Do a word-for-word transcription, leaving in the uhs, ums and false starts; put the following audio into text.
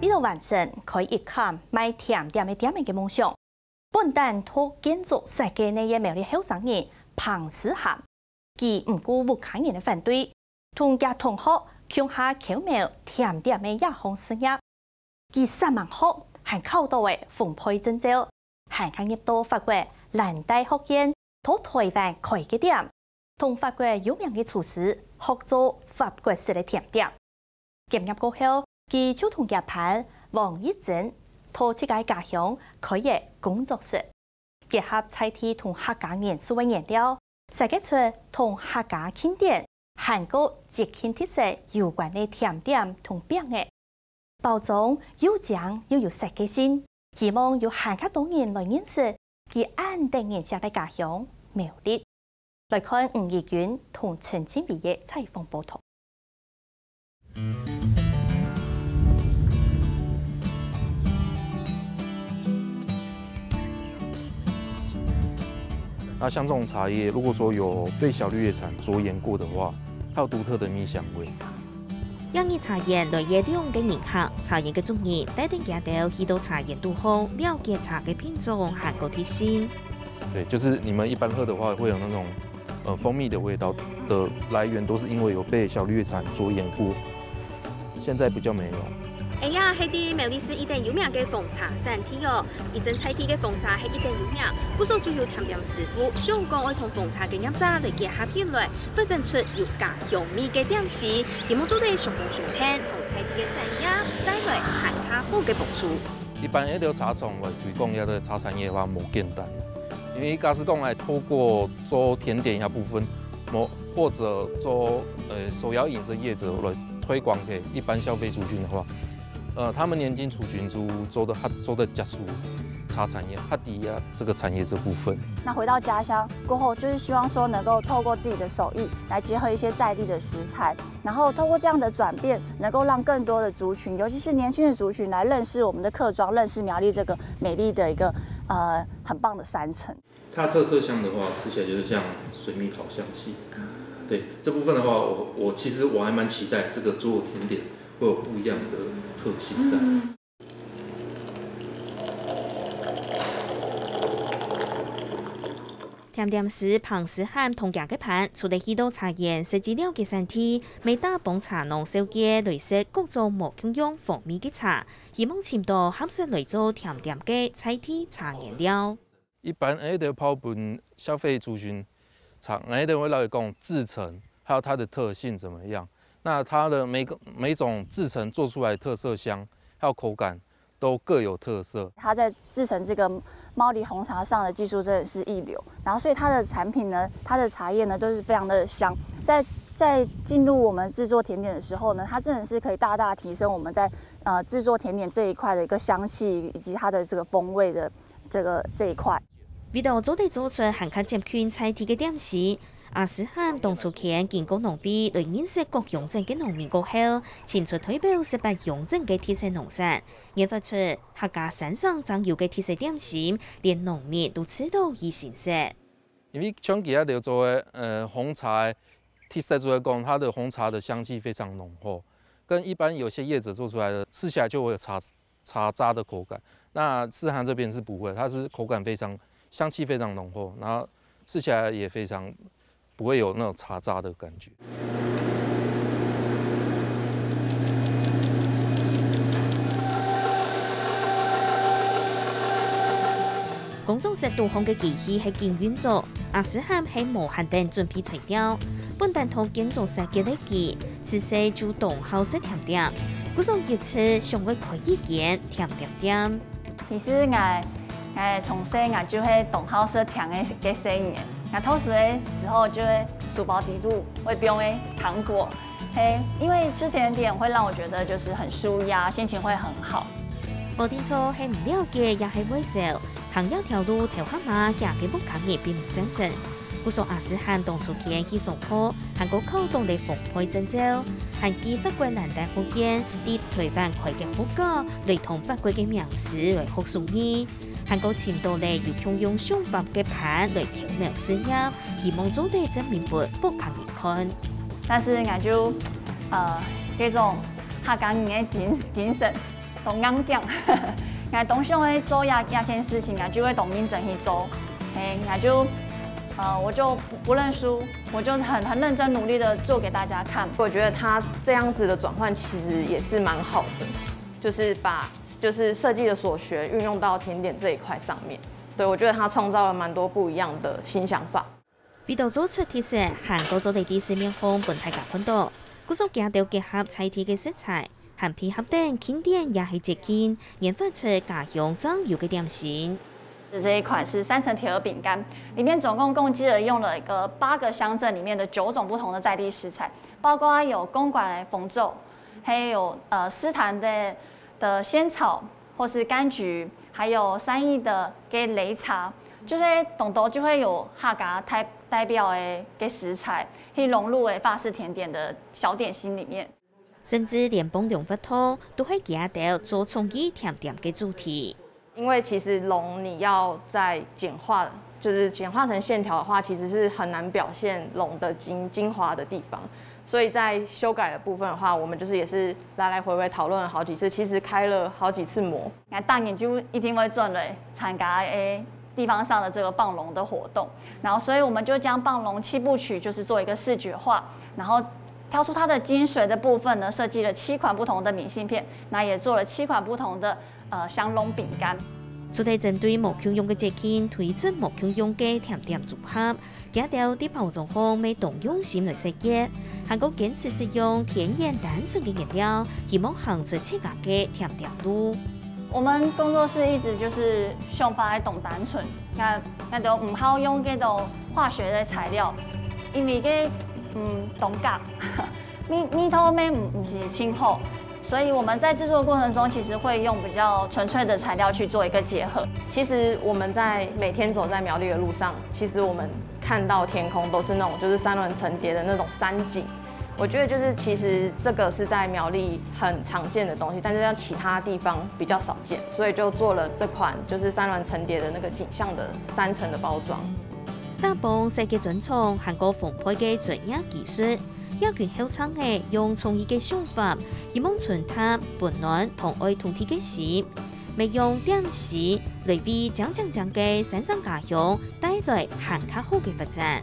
為了完成開一間賣甜點个店个夢想，本旦讀建築設計个苗栗後生人彭思涵，佢毋顧屋下人个反對，同厥同學共下巧描甜點个這項事業。佢煞猛學，還考到了烘焙證照，還加入到法國蘭大學院，在臺灣開个店，同法國有名个廚師學做法國式个甜點。結業過後，佢就同厥伴黃一珍在自家家鄉開个工作室，結合在地同客家元素个原料，設計出同客家慶典還過節慶特色有關个甜點同餅仔。包裝又靚又有設計性，希望有還較多人來認識佢恁得人惜个家鄉苗栗。來看吳怡君同陳靜薇个採訪報導。 那像這種茶葉，如果說有被小綠葉蟬着眼過的話，它有獨特的蜜香味。這日茶園來了兩個人客，茶園个主人帶等佢兜去到茶園肚項，了解茶个品種還過特性。對，就是你們一般喝的話，會有那種，呃，蜂蜜的味道的來源，都是因為有被小綠葉蟬着眼過。現在比較沒有。哎呀，係在苗栗市一等有名个紅茶產地哦。一陣在地个紅茶係一等有名，故所就有甜點師傅想講愛同紅茶个業者來結合起來， 發展出有家鄉味个點心，希望做得相輔相成，同在地个產業帶來還較好个幫助。一般這兜茶廠來推廣這个茶產業个話，無簡單，因為假使講來透過做甜點這部分，無，或者做，呃，手搖飲這業者來推廣給一般消費族群的話， 呃，他們年輕族群就做得，較做得接觸茶產業，較知這个產業這部分。那回到家鄉過後，就是希望說能夠透過自己的手藝來結合一些在地的食材，然後透過這樣的轉變，能夠讓更多的族群，尤其是年輕的族群來認識我們的客庄，認識苗栗這個美麗的一個，呃，很棒的山城。 它的特色香的話，吃起來就是像水蜜桃香氣。對，這部分的話，我，我其實我還蠻期待這個做甜點會有不一樣的特性在。嗯。甜點師彭思涵同厥个伴，除了去到茶園設計了解產地，乜打幫茶農紹介來食各種無共樣風味个茶，希望尋到合適來做甜點个在地茶原料。 一般𠊎兜拋分消費族群，常𠊎兜會來講製程，還有它的特性怎麼樣。那它的每個，每種製程做出來的特色香，還有口感都各有特色。它在製程這個貓梨紅茶上的技術真的是一流，然後所以它的產品呢，它的茶葉呢都是非常的香。在，在進入我們製作甜點的時候呢，它真的是可以大大提升我們在，呃，製作甜點這一塊的一個香氣以及它的這個風味的 這個，這一塊。為著做得做出還較接近在地个點心，阿思涵同秋千經過農會來認識各鄉鎮个農民過後，尋出代表十八鄉鎮个特色農產，研發出客家三省正有个特色點心，連農民都試著異心適。因為像佢兜做个，呃，紅茶个特色就係講，它的紅茶的香氣非常濃厚，跟一般有些業者做出來的，吃起來就會有茶 茶渣的口感。那思涵這邊是不會，它是口感非常，香氣非常濃厚，然後吃起來也非常不會有那種茶渣的感覺。工作室肚項个機器係緊運作，阿思涵係無閒等準備材料，本旦同建築設計个佢， 自細就當好食甜點，故所一直想愛開一間甜點店。其實𠊎，𠊎從細𠊎就係當好食甜个，个細人。𠊎讀書个時候就係書包底肚會放个糖果，係，因為吃甜點會讓我覺得就是很舒壓，心情會很好。無定著係毋了解也係會愁，行這條路頭下嘛，佢个屋下人並毋贊成。 故所阿思涵當初間去上課，還過考到了烘焙證照，還去法國蘭大學院，在臺灣開間學校，來同法國个名師來學手藝，還過尋到了有共樣想法个伴來挑戰事業，希望做得證明分屋下人看。但是𠊎就，呃，這種客家人个精，精神，當硬頸。𠊎當想愛做這這件事情啊，就會當認真去做。嘿，𠊎就呃，我就不不認輸，我就很很認真努力的做給大家看。我觉得他这样子的转换其实也是蛮好的，就是把就是设计的所学运用到甜点这一块上面。对，我觉得他创造了蛮多不一样的新想法。為到做出特色，還過做得在市面項分大家看到。故所佢兜結合在地个食材，還配合等經典也係節慶，研發出家鄉正有个點心。这一款是三層鐵盒餅乾，里面总共共计了用了一个八个乡镇里面的九种不同的在地食材，包括有公馆的紅棗，还有呃獅潭的的仙草，或是柑橘，还有三义的给擂茶，就是当多就会有客家代代表的给食材，去融入为法式甜点的小点心里面。甚至連傍龍活動都係佢兜做創意甜點个主题。因为其实龙你要再简化，就是简化成线条的话，其实是很难表现龙的精精华的地方。所以在修改的部分的话，我们就是也是来来回回讨论了好几次，其实开了好几次模。那当然就一定会转来参加诶地方上的这个傍龙的活动，然后所以我们就将傍龙七部曲就是做一个视觉化，然后挑出它的精髓的部分呢，设计了七款不同的明信片，那也做了七款不同的呃香龙饼干。除了針對無共樣个節慶推出無共樣个甜點組合，佢兜在包裝項乜當用心來設計，還過堅持使用天然單純个原料，希望行出自家个甜點路。我们工作室一直就是想法还当单纯，那那都毋好用这种化学的材料，因为这嗯当假，味味道乜毋毋是真好。所以我们在制作过程中，其实会用比较纯粹的材料去做一个结合。其实我们在每天走在苗栗的路上，其实我们看到天空都是那种就是山峦层叠的那种山景。我觉得就是其实这个是在苗栗很常见的东西，但是在其他地方比较少见，所以就做了这款就是山峦层叠的那个景象的三层的包装。打幫設計專長還過豐沛个專業技術，這群後生仔用創意个想法，希望傳達溫暖同愛土地个心，乜用點心來為靚靚靚个山城家鄉帶來還較好个發展。